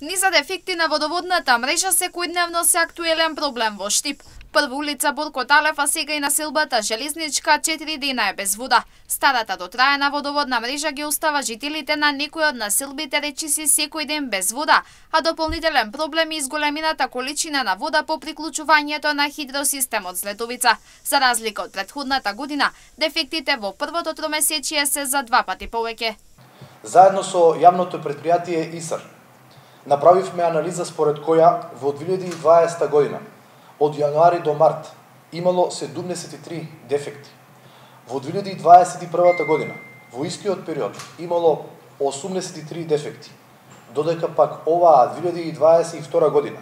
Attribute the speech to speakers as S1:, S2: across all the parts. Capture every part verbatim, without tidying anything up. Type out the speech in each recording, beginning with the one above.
S1: Низа дефекти на водоводната мрежа секојдневно се актуелен проблем во Штип. Прво улица Борко Талев, а сега и населбата Железничка четири дена е без вода. Старата дотраена водоводна мрежа ги остава жителите на некои од населбите речиси секој ден без вода, а дополнителен проблем е изголемината количина на вода по приклучувањето на хидросистемот Злетовица. За разлика од претходната година, дефектите во првото тромесечие се за два пати повеќе.
S2: Заедно со јавното предпријатие ИСАР направивме анализа според која во две илјади и дваесета година од јануари до март имало седумдесет и три дефекти. Во две илјади и дваесет и прва година во истиот период имало осумдесет и три дефекти, додека пак оваа две илјади и дваесет и втора година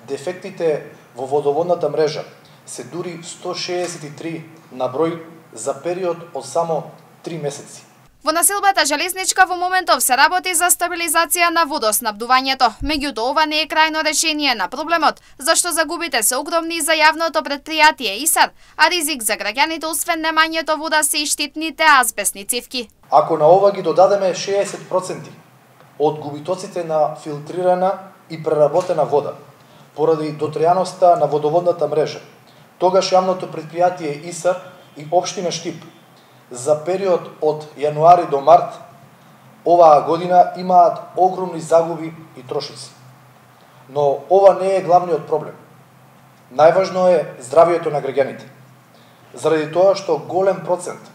S2: дефектите во водоводната мрежа се дури сто шеесет и три на број за период од само три месеци.
S1: Во населбата Железничка во моментов се работи за стабилизација на водоснабдувањето. Меѓутоа, ова не е крајно решение на проблемот, зашто загубите се огромни за јавното предпријатие ИСАР, а ризик за граѓаните освен немањето вода се и штетните азбестни цевки.
S2: Ако на ова ги додадеме шеесет проценти од губитоците на филтрирана и преработена вода, поради дотреаноста на водоводната мрежа, тогаш јавното предпријатие ИСАР и општина Штип за период од јануари до март оваа година имаат огромни загуби и трошоци. Но ова не е главниот проблем. Најважно е здравието на граѓаните. Заради тоа што голем процент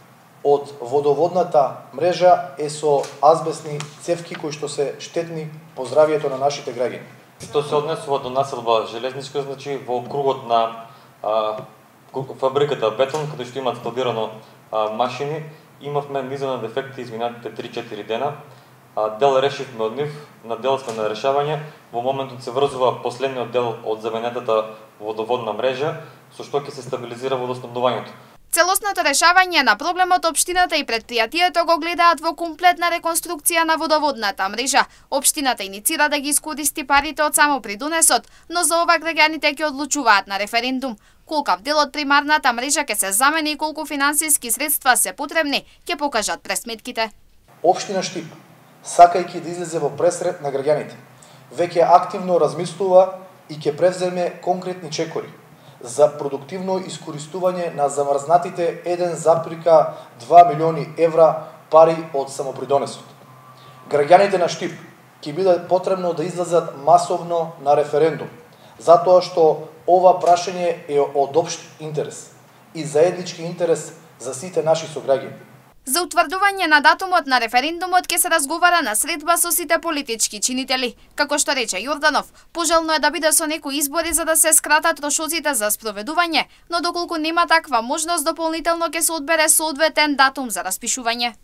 S2: од водоводната мрежа е со азбестни цевки кои што се штетни по здравието на нашите граѓани.
S3: Што се однесува до населба Железничка, значи во кругот на а, фабриката Бетон, каде што имаат складирано а, машини, имавме низа на дефекти изминатите три-четири дена. А, дел решивме од нив, на дел сме на решавање. Во моментот се врзува последниот дел од заменетата водоводна мрежа, со што ќе се стабилизира водоснабдувањето.
S1: Целосното решавање на проблемот општината и предпријатието го гледаат во комплетна реконструкција на водоводната мрежа. Општината иницира да ги искористи парите од само придонесот, но за ова граѓаните ќе одлучуваат на референдум. Колкав дел од примарната мрежа ќе се замени и колку финансиски средства се потребни, ќе покажат пресметките.
S2: Општина Штип, сакајќи да излезе во пресред на граѓаните, веќе активно размислува и ќе превземе конкретни чекори за продуктивно искористување на замрзнатите еден запирка два милиони евра пари од самопридонесот. Граѓаните на Штип ќе биде потребно да излезат масовно на референдум, затоа што ова прашање е од општ интерес и заеднички интерес за сите наши сограѓани.
S1: За утврдување на датумот на референдумот ќе се разговара на средба со сите политички чинители. Како што рече Јорданов, пожелно е да биде со некои избори за да се скратат трошоците за спроведување, но доколку нема таква можност, дополнително ќе се одбере соодветен датум за распишување.